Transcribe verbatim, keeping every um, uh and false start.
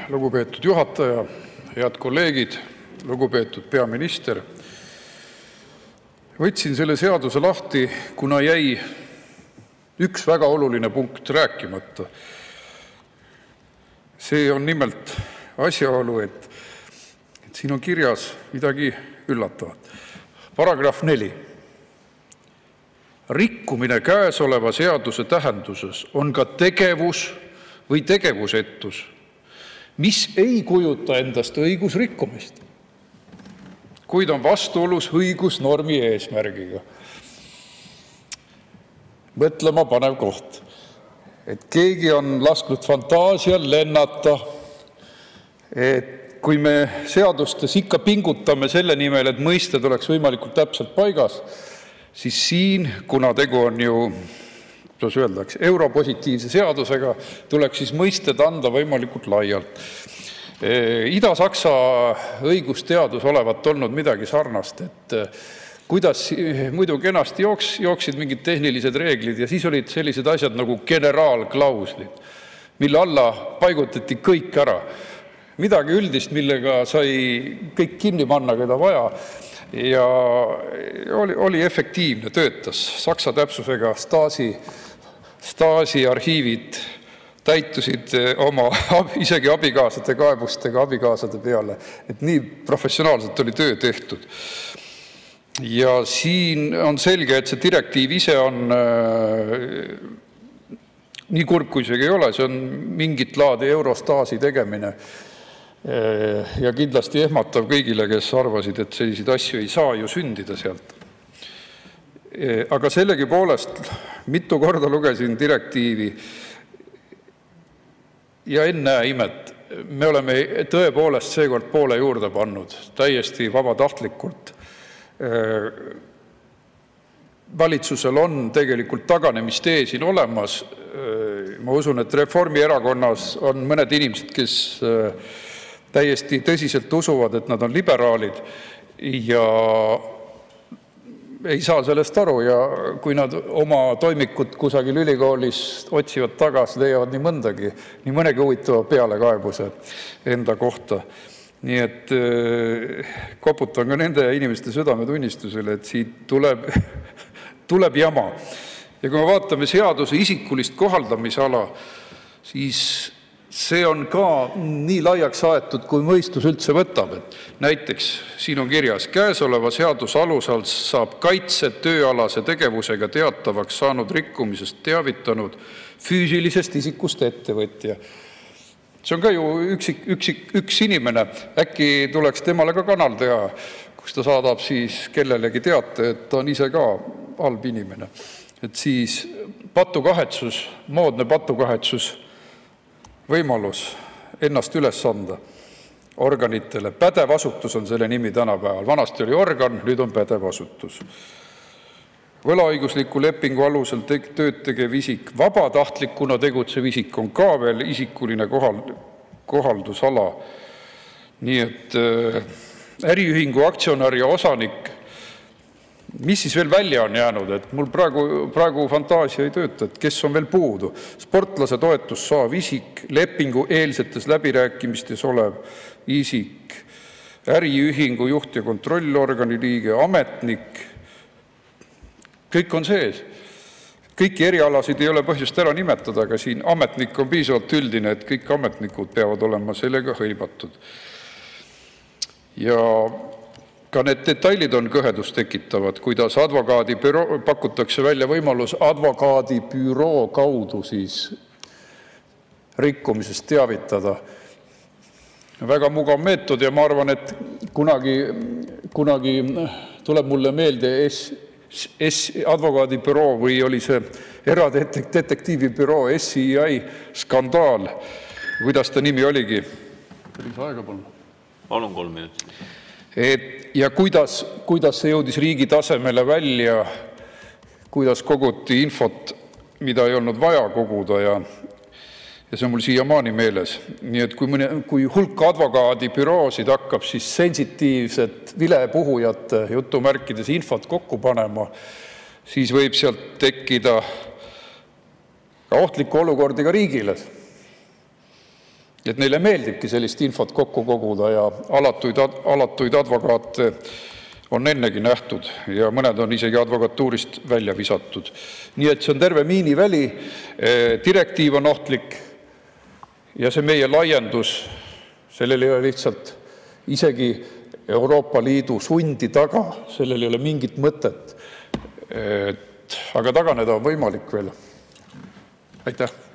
Lugupeetud juhataja, head kolleegid, lugupeetud peaminister. Võtsin selle seaduse lahti, kuna jäi üks väga oluline punkt rääkimata. See on nimelt asjaolu, et, et siin on kirjas midagi üllatavat. Paragrahv neli. Rikkumine käesoleva seaduse tähenduses on ka tegevus või tegevusetus, mis ei kujuta endast õigusrikkumist, kuid on vastuolus õigusnormi eesmärgiga. Mõtlema panev koht, et keegi on lasknud fantaasial lennata, et kui me seadustes ikka pingutame selle nimel, et mõisted oleks võimalikult täpselt paigas, siis siin, kuna tegu on ju, kuidas öeldakse, europositiivse seadusega, tuleks siis mõisted anda võimalikult laialt. Ida-Saksa õigusteadus olevat olnud midagi sarnast, et kuidas muidu kenasti jooks, jooksid mingid tehnilised reeglid ja siis olid sellised asjad nagu generaalklauslid, mille alla paigutati kõik ära. Midagi üldist, millega sai kõik kinni panna, keda vaja. Ja oli, oli efektiivne, töötas Saksa täpsusega. Stasi, Stasi arhiivid täitusid oma isegi abikaasade kaebustega abikaasade peale. Et nii professionaalselt oli töö tehtud. Ja siin on selge, et see direktiiv ise on äh, nii kurb, kui see ei ole. See on mingit laadi Eurostasi tegemine. Ja kindlasti ehmatav kõigile, kes arvasid, et selliseid asju ei saa ju sündida sealt. Aga sellegi poolest mitu korda lugesin direktiivi ja ennäe imet, me oleme tõepoolest seekord poole juurde pannud, täiesti vabatahtlikult. Valitsusel on tegelikult taganemistee siin olemas. Ma usun, et Reformierakonnas on mõned inimesed, kes täiesti tõsiselt usuvad, et nad on liberaalid ja ei saa sellest aru ja kui nad oma toimikut kusagil ülikoolis otsivad tagasi, leiavad nii mõndagi, nii mõnegi huvitava pealekaebuse enda kohta. Nii et koputan ka nende inimeste südametunnistusele, et siit tuleb, tuleb jama. Ja kui me vaatame seaduse isikulist kohaldamisala, siis see on ka nii laiaks aetud, kui mõistus üldse võtab. Et näiteks siin on kirjas, käesoleva seaduse alusel saab kaitse tööalase tegevusega teatavaks saanud rikkumisest teavitanud füüsilisest isikust ettevõtja. See on ka ju üks, üks, üks inimene. Äkki tuleks temale ka kanal teha, kus ta saadab siis kellelegi teate, et ta on ise ka halb inimene. Et siis patukahetsus, moodne patukahetsus, võimalus ennast üles anda organitele. Pädev asutus on selle nimi tänapäeval. Vanasti oli organ, nüüd on pädev asutus. Võlaõigusliku lepingu alusel tööd tegev isik, vabatahtlikuna tegutsev isik on ka veel isikuline kohaldusala. Nii et äriühingu aktsionär ja osanik, mis siis veel välja on jäänud, et mul praegu, praegu fantaasia ei tööta, et kes on veel puudu. Sportlase toetus saav isik, lepingu eelsetes läbirääkimistes olev isik, äriühingu juht ja kontrollorgani liige, ametnik, kõik on sees. Kõiki erialasid ei ole põhjust ära nimetada, aga siin ametnik on piisavalt üldine, et kõik ametnikud peavad olema sellega hõivatud. Ja ka need detailid on kõhedust tekitavad, kuidas advokaadibüroo, pakutakse välja võimalus advokaadibüroo kaudu siis rikkumisest teavitada. Väga mugav meetod ja ma arvan, et kunagi, kunagi tuleb mulle meelde S, S, advokaadibüroo või oli see eradetektiivibüroo S I I skandaal. Kuidas ta nimi oligi? Päris aega palun. Palun kolm minutit. Et, ja kuidas, kuidas see jõudis riigi tasemele välja, kuidas koguti infot, mida ei olnud vaja koguda ja, ja see on mul siiamaani meeles. Nii et kui, mõne, kui hulk advokaadibüroosid hakkab siis sensitiivset vilepuhujate jutumärkides infot kokku panema, siis võib sealt tekkida ohtlikku olukordi ka riigile. Et neile meeldibki sellist infot kokku koguda ja alatuid, alatuid advokaate on ennegi nähtud ja mõned on isegi advokatuurist välja visatud. Nii et see on terve miiniväli. Direktiiv on ohtlik ja see meie laiendus, sellel ei ole lihtsalt isegi Euroopa Liidu sundi taga, sellel ei ole mingit mõtet. Aga taganeda on võimalik veel. Aitäh!